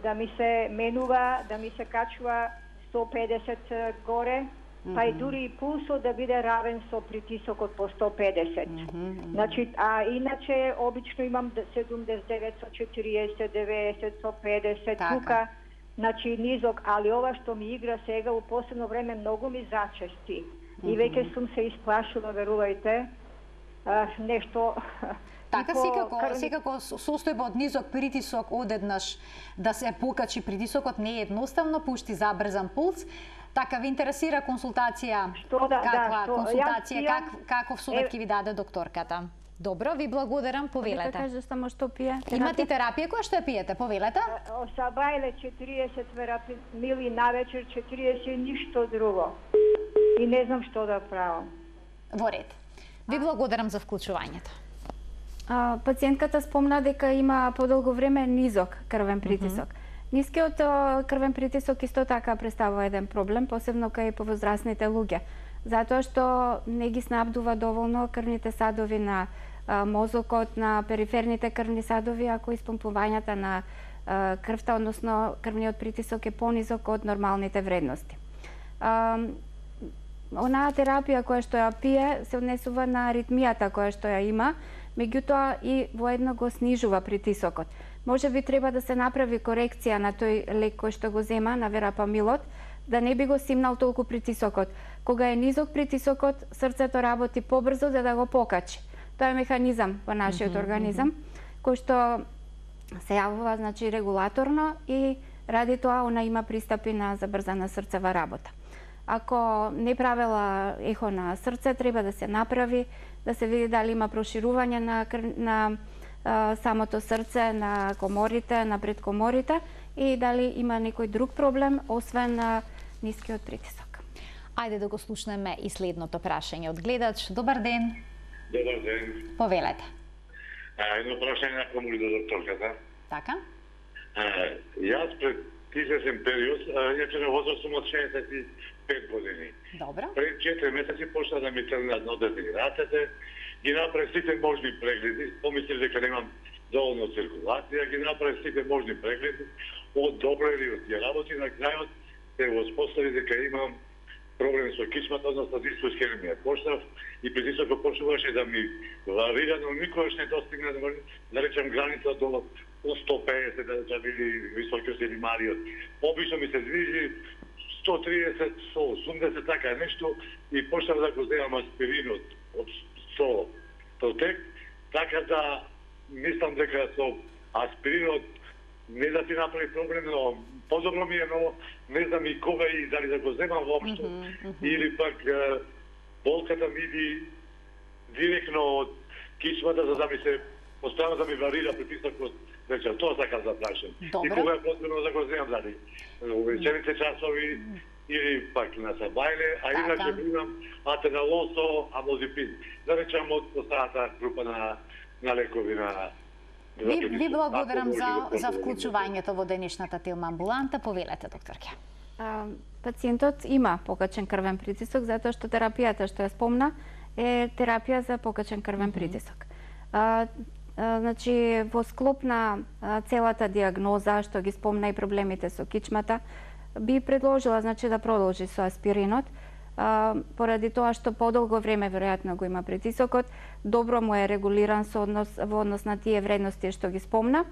да ми се менува, да ми се качува 150 горе, па и дури и пулсот да биде равен со притисокот по 150. Значи, иначе обично имам 79 со 40, 90 со 50, тука, значи низок, али ова што ми игра сега у последно време многу ми зачести. И веќе сум се исплашила, верувајте, нешто. Така, секако состојба од низок притисок одеднаш да се покачи притисокот не е едноставно, пушти забрзан пулс. Така, ви интересира консултација? Каков совет ќе ви даде докторката? Добро, ви благодарам, повелете. Да кажа само што пие. Имате терапија која што ја пиете, повелете? Сабајле 40 мили навечер, 40 ништо друго. И не знам што да правам. Во ред. Ви благодарам за вклучувањето. Пациентката спомна дека има подолго време низок крвен притисок. Нискиот крвен притисок исто така представува еден проблем, посебно кај повозрасните луѓе, затоа што не ги снабдува доволно крвните садови на мозокот, на периферните крвни садови, ако испомпувањата на крвта, односно крвниот притисок е понизок од нормалните вредности. Онаа терапија која што ја пие се однесува на аритмијата која што ја има, меѓутоа и воедно го снижува притисокот. Може би треба да се направи корекција на тој лек кој што го зема, на верапамилот, да не би го симнал толку притисокот. Кога е низок притисокот, срцето работи побрзо за да го покачи. Тоа е механизам во нашиот организам, кој што се јавува, значи, регулаторно и ради тоа она има пристапи на забрзана срцева работа. Ако не правела ехо на срце, треба да се направи, да се види дали има проширување на самото срце, на коморите, на предкоморите и дали има некој друг проблем, освен нискиот притисок. Ајде да го слушнеме и следното прашање од гледач. Добар ден. Добар ден. Повелете. Едно прашање на до докторката. Така? Јас пред известен период, иначе на возраст сум од 65 години. Добро. Пред 4 месеци почна да ми тргнат нодете и рацете, ги направи сите можни прегледи, помислив дека немам доволно циркулација, ги направи сите можни прегледи, одобрени од тие работи, на крајот се воспостави дека имам проблем со кичмата, односно дисфусхермија. Почнав и притисокот почнуваше да ми варира, но никогаш не достигна да речем граница до 150, да биде високиот или малиот. Обично ми се движи 130, 180, така нешто, и почнав да го земам аспиринот со протек, така да мислам дека со аспиринот не да ти направи проблем, но подобро ми е, но не знам и кога и дали да го земам воопшто, или пак болката ми иди директно од кичмата, за да ми се постојано да ми варира притисокот. Вечер, тоа сакам да прашам. И кога е потребно да го земам, дали вечерните часови или пак на сабајле, а иначе имам атеналол со амлозипин. Да речам од останата група на лекови на... Ви благодарам за вклучувањето во денешната Телма амбуланта. Повелете, докторке. Пациентот има покачен крвен притисок, затоа што терапијата што ја спомна е терапија за покачен крвен притисок. Значи, во склоп на целата диагноза, што ги спомна и проблемите со кичмата, би предложила, значи, да продолжи со аспиринот, поради тоа што подолго време веројатно го има притисокот, добро му е регулиран во однос на тие вредности што ги спомна.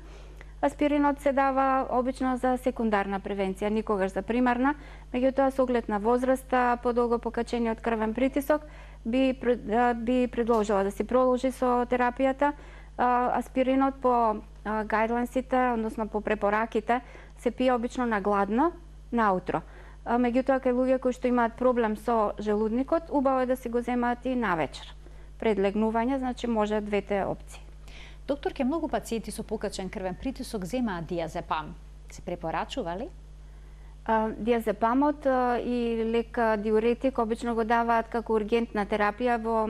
Аспиринот се дава обично за секундарна превенција, никогаш за примарна, меѓутоа со оглед на возраста, подолго покачениот крвен притисок, би предложила да се продолжи со терапијата, Аспиринот по гајдлайнсите, односно по препораките, се пие обично на гладно, наутро. Меѓутоа, кај луѓе кои што имаат проблем со желудникот, убаво е да си го земаат и навечер. Пред легнување, значи може двете опции. Докторке, многу пациенти со покачен крвен притисок земаат диазепам. Се препорачува ли? Диазепамот и лек диуретик обично го даваат како ургентна терапија во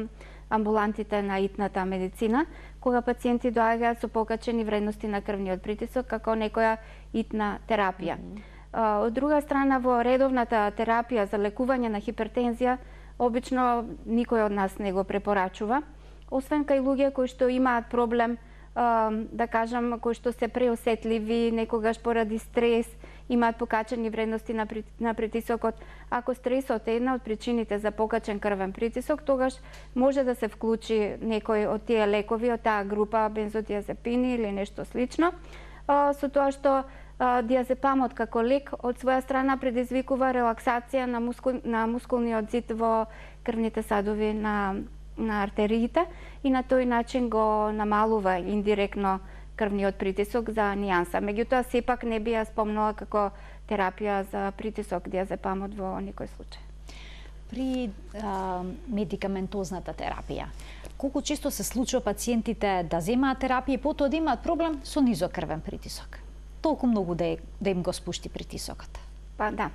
амбулантите на итната медицина, кога пациенти доаѓаат со покачени вредности на крвниот притисок како некоја итна терапија. Од друга страна, во редовната терапија за лекување на хипертензија, обично никој од нас не го препорачува, освен кај луѓе кои што имаат проблем, да кажам, кои што се преосетливи, некогаш поради стрес, имаат покачени вредности на притисокот. Ако стресот е една од причините за покачен крвен притисок, тогаш може да се вклучи некој од тие лекови, од таа група бензодиазепини или нешто слично, со тоа што диазепамот како лек од своја страна предизвикува релаксација на мускулниот зид во крвните садови на артериите и на тој начин го намалува индиректно крвниот притисок за нијанса. Меѓутоа, сепак не би ја спомнала како терапија за притисок диазепамот во никој случај. При медикаментозната терапија, колку често се случува пациентите да земаат терапија и потоа да имаат проблем со низок крвен притисок? Толку многу да им го спушти притисокот? Па да.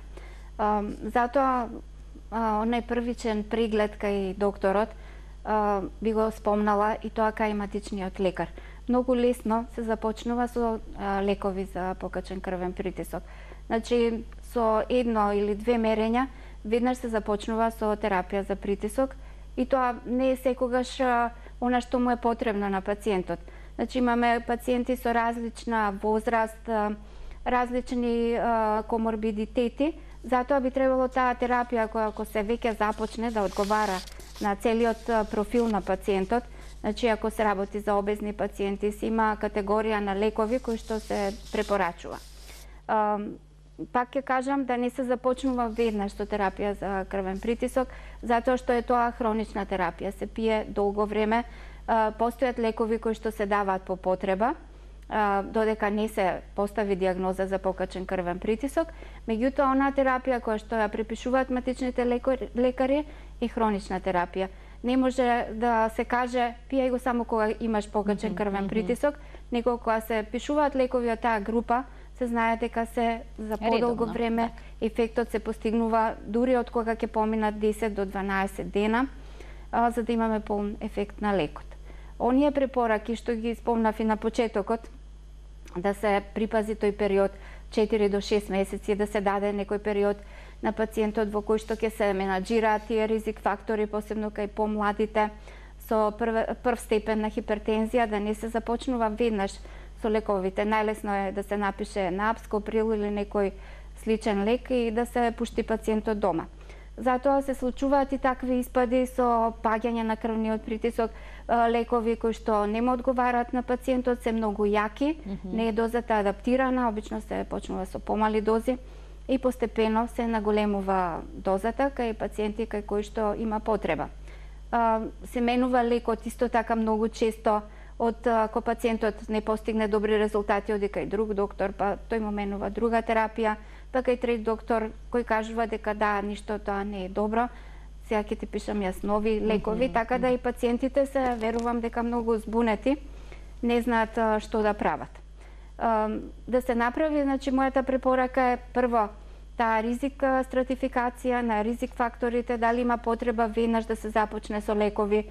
Затоа онај првичен преглед кај докторот би го спомнала и тоа кај матичниот лекар. Многу лесно се започнува со лекови за покачен крвен притисок. Значи, со едно или две мерења, веднаш се започнува со терапија за притисок и тоа не е секогаш она што му е потребно на пациентот. Значи, имаме пациенти со различна возраст, различни коморбидитети, затоа би требало таа терапија која ако се веќе започне да одговара на целиот профил на пациентот. Значи, ако се работи за обезни пациенти, си има категорија на лекови кои што се препорачува. Пак ќе кажам да не се започнува веднаш со терапија за крвен притисок, затоа што е тоа хронична терапија, се пие долго време, постојат лекови кои што се даваат по потреба, додека не се постави диагноза за покачен крвен притисок, меѓутоа онаа терапија која што ја препишуваат матичните лекари е хронична терапија. Не може да се каже пијај го само кога имаш покачен крвен притисок, него кога се пишуваат лекови од таа група, се знае дека се за подолго време ефектот се постигнува дури од кога ќе поминат 10 до 12 дена, за да имаме полн ефект на лекот. Оние препораки што ги спомнав и на почетокот, да се припази тој период 4 до 6 месеци, да се даде некој период на пациентот во кој што ќе се менаџираат тие ризик фактори, посебно кај помладите со прв степен на хипертензија, да не се започнува веднаш со лековите. Најлесно е да се напише напс, коприл или некој сличен лек и да се пушти пациентот дома. Затоа се случуваат и такви испади со паѓање на крвниот притисок, лекови кои што не му одговараат на пациентот, се многу јаки, не е дозата адаптирана, обично се почнува со помали дози и постепено се наголемува дозата кај пациенти кај кои што има потреба. Се менува лекот исто така многу често, кога пациентот не постигне добри резултати, оди кај друг доктор, па тој му менува друга терапија, па кај трет доктор кој кажува дека да, ништо тоа не е добро, сега ќе ти пишам јас нови лекови, така да и пациентите се, верувам дека многу збунети, не знаат што да прават. Да се направи, значи, мојата препорака е прво таа ризик стратификација на ризик факторите, дали има потреба веднаш да се започне со лекови.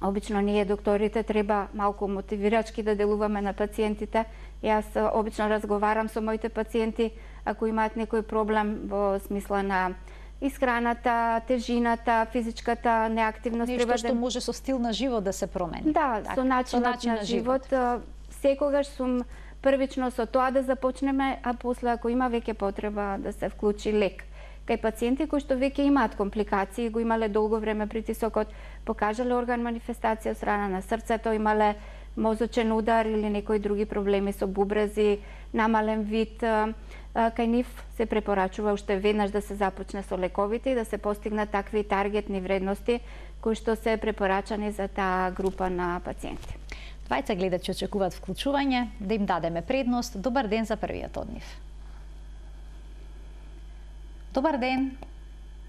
Обично ние докторите треба малку мотивирачки да делуваме на пациентите. Јас обично разговарам со моите пациенти ако имаат некој проблем во смисла на исхраната, тежината, физичката неактивност. Нешто што може со стил на живот да се промени. Да, со начинот на живот. Секогаш сум првично со тоа да започнеме, а после ако има веќе потреба да се вклучи лек. Кај пациенти кои што веќе имаат компликации, го имале долго време притисокот, покажале орган манифестација од страна на срцето, имале мозочен удар или некои други проблеми со бубрези, намален вид, кај нив се препорачува уште веднаш да се започне со лековите и да се постигнат такви таргетни вредности кои што се препорачани за таа група на пациенти. Двајца гледачи очекуваат вклучување, да им дадеме предност. Добар ден за првиот од нив. Добар ден.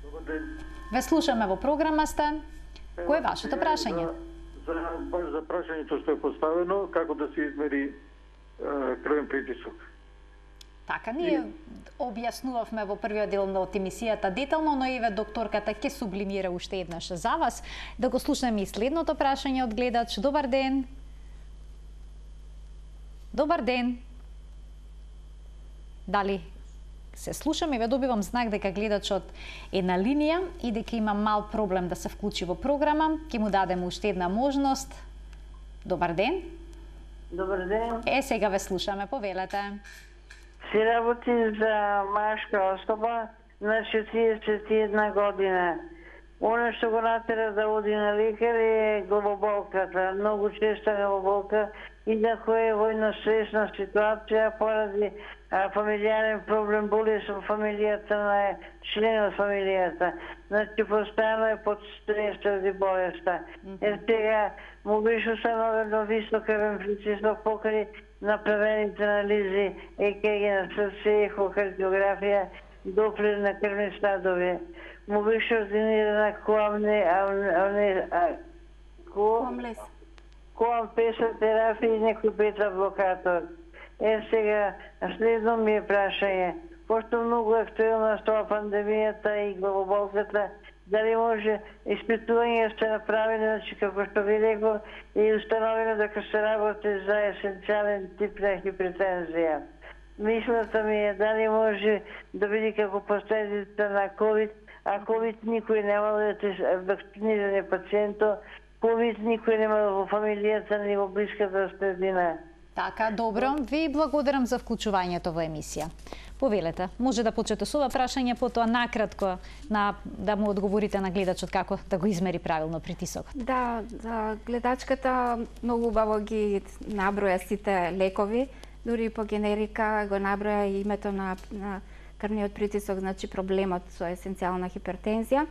Добар ден. Ве слушаме во програма сте. Кој е вашето прашање? За прашањето што е поставено, како да се измери крвен притисок. Така, ние објаснувавме во првиот дел од емисијата детално, но еве докторката ќе сублимира уште еднаш за вас. Да го слушнеме и следното прашање од гледач. Добар ден. Добар ден. Дали се слушам и ве добивам знак дека гледачот е на линија и дека има мал проблем да се вклучи во програма. Ќе му дадеме уште една можност. Добар ден. Добар ден. Сега ве слушаме, повелете. Си работи за машка особа на 41 година. Она што го натера да оди на лекар е главоболката. Многу честа главоболка и ако е во една стресна ситуација поради фамилијарен проблем, болест во фамилијата на член од фамилијата. Значи, постојано е под стрес заради болеста. Сега му беше установено висок крвен притисок покрај направените анализи, ЕКГ на срце, ехокардиографија, доплер на крвни стадови. Му беше ординирана коам-песа терапија и некој бета-блокатор. Сега, следно ми е прашање. Пошто многу актуелна става пандемијата и главоболката, дали може испитување се направени, значи како што ви рекол, и установено дека се работи за есенцијален тип на хипертензија. Мислата ми е дали може да биде како последица на COVID, а COVID никој немал да е вакциниран пациенто, COVID никој немал во фамилијата ни во блиската средина. Така, добро. Ви благодарам за вклучувањето во емисија. Повелете, може да почнете со ова прашање, потоа накратко да му одговорите на гледачот како да го измери правилно притисокот. Да, гледачката многу убаво ги наброја сите лекови, дури по генерика го наброја и името на крвниот притисок, значи проблемот со есенцијална хипертензија.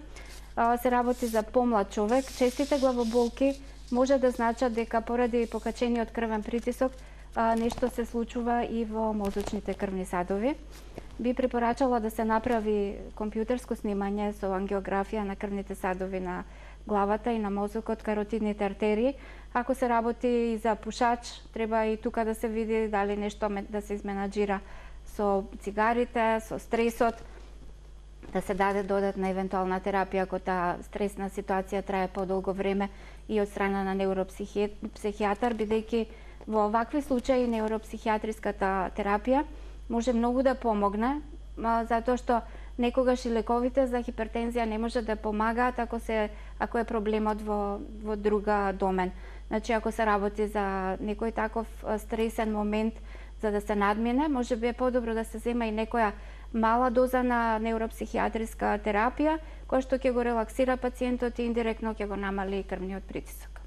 Се работи за помлад човек. Честите главоболки може да значат дека поради покачениот крвен притисок нешто се случува и во мозочните крвни садови. Би препорачала да се направи компјутерско снимање со ангиографија на крвните садови на главата и на мозокот, каротидните артерии. Ако се работи и за пушач, треба и тука да се види дали нешто да се изменаџира со цигарите, со стресот, да се даде додатна евентуална терапија ако таа стресна ситуација трае подолго време и од страна на невропсихијатар, бидејќи во овакви случаи невропсихијатриската терапија може многу да помогне, затоа што некогаш и лековите за хипертензија не може да помагаат ако е проблемот во друга домен. Значи, ако се работи за некој таков стресен момент за да се надмине, може би е подобро да се зема и некоја мала доза на невропсихијатриска терапија, која што ќе го релаксира пациентот и индиректно ќе го намали крвниот притисок.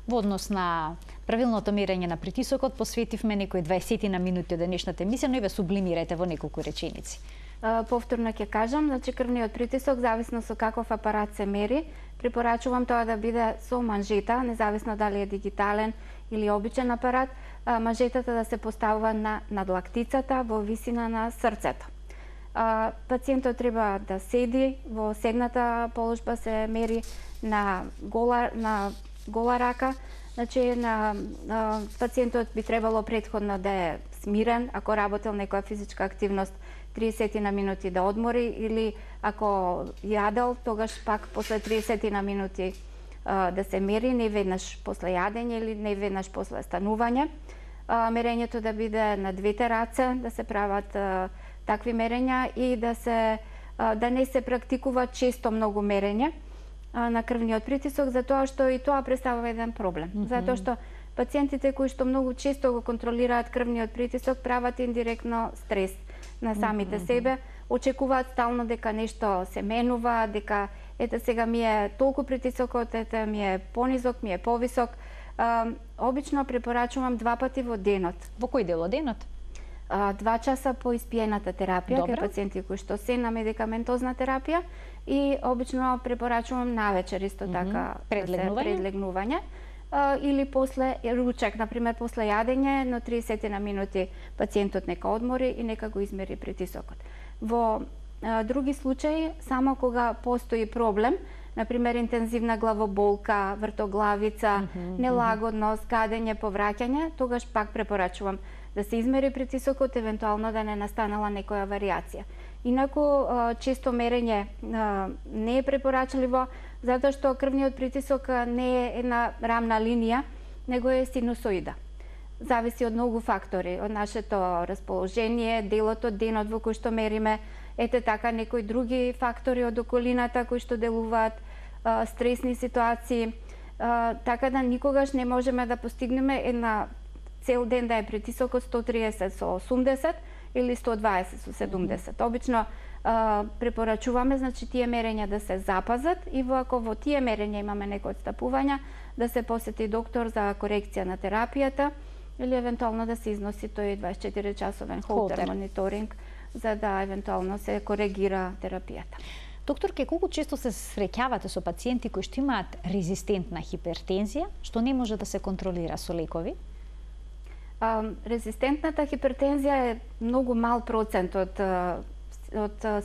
Во однос на правилното мерење на притисокот, посветивме некои 20 на минути од денешната емисија, но и ве сублимирајте во неколку реченици. Повторно ќе кажам, значи крвниот притисок, зависно со каков апарат се мери, препорачувам тоа да биде со манжета, независно дали е дигитален или обичен апарат, манжетата да се поставува на надлактицата во висина на срцето. Пациентот треба да седи, во сегната положба се мери на гола рака, значи пациентот би требало претходно да е смирен, ако работел некоја физичка активност 30 на минути да одмори или ако јадел, тогаш пак после 30 на минути да се мери, не веднаш после јадење или не веднаш после станување. Мерењето да биде на двете раце, да се прават такви мерења и да не се практикува често многу мерење на крвниот притисок, затоа што и тоа представува еден проблем. Затоа што пациентите кои што многу често го контролираат крвниот притисок прават индиректно стрес на самите себе, очекуваат стално дека нешто се менува, дека ете сега ми е толку притисокот, ете ми е понизок, ми е повисок. Обично препорачувам 2 пати во денот. Во кој дел од денот? 2 часа по испиената терапија, кај пациенти кои што се на медикаментозна терапија и обично препорачувам навечер исто така предлегнување. или после ручек, например после јадење, на 30 на минути пациентот нека одмори и нека го измери притисокот. Во други случаи, само кога постои проблем, например интензивна главоболка, вртоглавица, нелагодност, гадење, повраќање, тогаш пак препорачувам да се измери притисокот, евентуално да не настанала некоја варијација. Инаку, често мерење не е препорачливо, затоа што крвниот притисок не е една рамна линија, него е синусоида. Зависи од многу фактори, од нашето расположение, делот од денот во кој што мериме, ете така некои други фактори од околината кои што делуваат, стресни ситуации, така да никогаш не можеме да постигнеме една цел ден да е притисокот 130 со 80 или 120 со 70. Обично препорачуваме, значи, тие мерења да се запазат и ако во тие мерења имаме некои отстапувања, да се посети доктор за корекција на терапијата или евентуално да се износи тој 24-часовен холтер мониторинг за да евентуално се коригира терапијата. Докторке, колку често се среќавате со пациенти кои што имаат резистентна хипертензија, што не може да се контролира со лекови? Резистентната хипертензија е многу мал процент од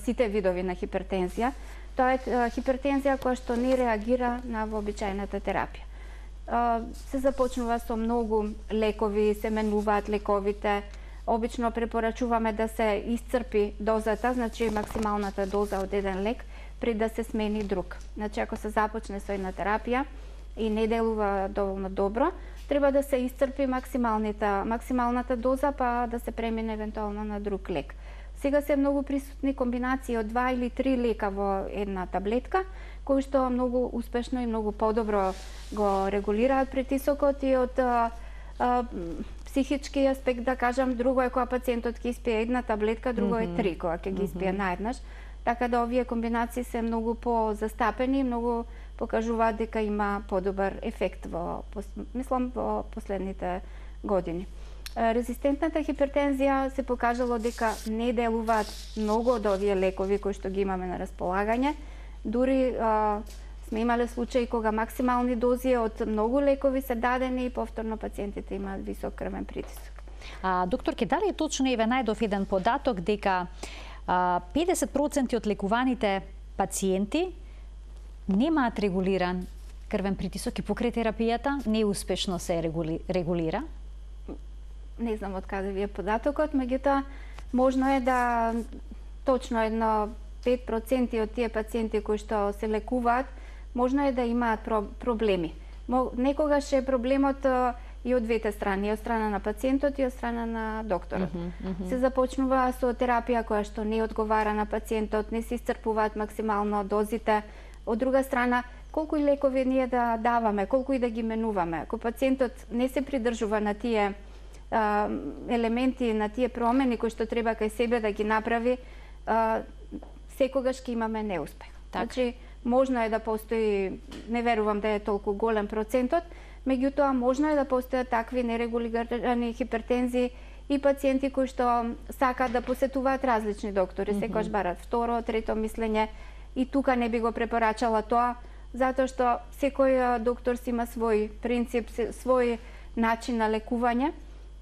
сите видови на хипертензија. Тоа е хипертензија која што не реагира на вообичаената терапија. Се започнува со многу лекови, се менуваат лековите. Обично препорачуваме да се исцрпи дозата, значи максималната доза од еден лек, пред да се смени друг. Значи, ако се започне со една терапија и не делува доволно добро, треба да се исцрпи максималната доза, па да се премине евентуално на друг лек. Сега се многу присутни комбинации од 2 или 3 лека во една таблетка, кои што многу успешно и многу подобро го регулираат притисокот и од психички аспект, да кажам, друго е кога пациентот ќе испие една таблетка, друго е 3 кога ќе ги испие наеднаш. Така да овие комбинации се многу позастапени и многу покажуваат дека има подобар ефект во последните години. Резистентната хипертензија се покажало дека не делуваат многу од овие лекови кои што ги имаме на располагање. Дури сме имале случаи кога максимални дози од многу лекови се дадени и повторно пациентите имаат висок крвен притисок. Докторке, дали е точно, еве најдов еден податок дека 50% од лекуваните пациенти немаат регулиран крвен притисок и покрај терапијата неуспешно се регулира? Не знам од каде ви е податокот, меѓутоа можно е да точно едно 5% од тие пациенти кои што се лекуваат, можно е да имаат проблеми. Некогаш е проблемот и од двете страни, и од страна на пациентот и од страна на докторот. Се започнува со терапија која што не одговара на пациентот, не се исцрпуваат максимално дозите. Од друга страна, колку и лекови ние да даваме, колку и да ги менуваме, ако пациентот не се придржува на тие елементи, на тие промени кои што треба кај себе да ги направи, секогаш ќе имаме неуспех. Значи, можно е да постои, не верувам да е толку голем процентот, меѓутоа можно е да постојат такви нерегулирани хипертензии и пациенти кои што сакаат да посетуваат различни доктори, секогаш барат второ, трето мислење, и тука не би го препорачала тоа, затоа што секој доктор си има свој принцип, свој начин на лекување,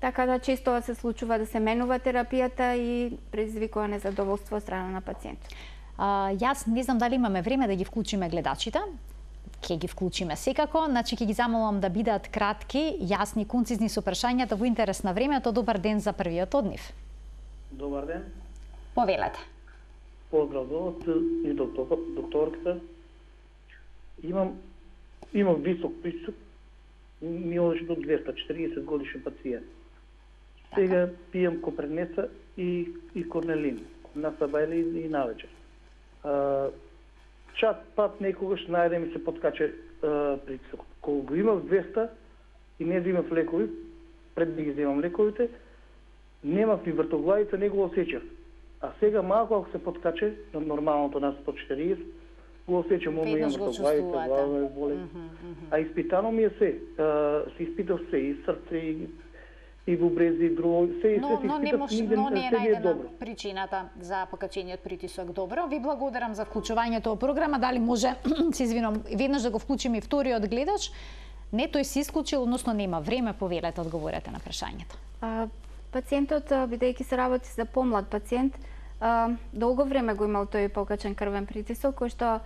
така да често се случува да се менува терапијата и предизвикува незадоволство од страна на пациентот. Јас не знам дали имаме време да ги вклучиме гледачите. Ќе ги вклучиме секако, значи ќе ги замолам да бидат кратки, јасни, концизни со прашањата во интерес на времето. Добар ден за првиот од нив. Добар ден. Повелете. Поздрав и докторката. Имам висок притисок, ми одеше до 240 годишен пациент. Сега пијам Копренеса и Корнелин на сабајле и навечер. Чат пат некогаш најде ми се подкаче притисок. Кога го имав 200 и не взимав лекови, пред да ги взимам лековите, немав ни вртоглавица, не го осеќав. А сега малку ако се подкаче на нормалното на 140, го осеќам, имам вртоглавица, глава ме боли. А испитано ми е се. Се испитав се и срце, и бубрези, и друго, се и се но не е најдена причината за покачениот притисок. Добро, ви благодарам за вклучувањето во програма. Дали може, се извинувам, веднаш да го вклучиме и вториот гледач, Не, тој се исклучил, односно нема време, повелете, одговорете на прашањето. Пациентот, бидејќи се работи за помлад пациент, долго време го имал тој покачен крвен притисок, кој што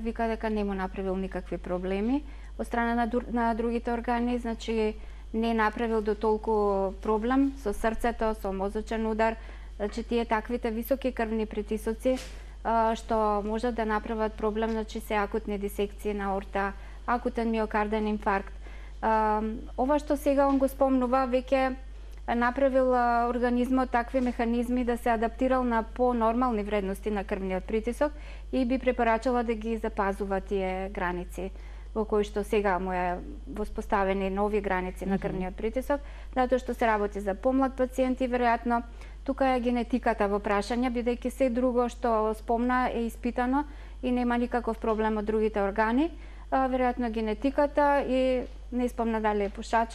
вика дека не му направил никакви проблеми. Од страна на другите органи, значи не направил до толку проблем со срцето, со мозочен удар, значи тие таквите високи крвни притисоци што можат да направат проблем, значи се акутни дисекции на аорта, акутен миокарден инфаркт. Ова што сега он го спомнува, веќе направил организмот такви механизми да се адаптирал на по-нормални вредности на крвниот притисок и би препорачала да ги запазува тие граници во кои што сега му е воспоставени нови граници на крвниот притисок, затоа што се работи за помлад пациент и веројатно тука е генетиката во прашање, бидејќи се друго што спомна е испитано и нема никаков проблем од другите органи, веројатно генетиката и не спомна дали е пушач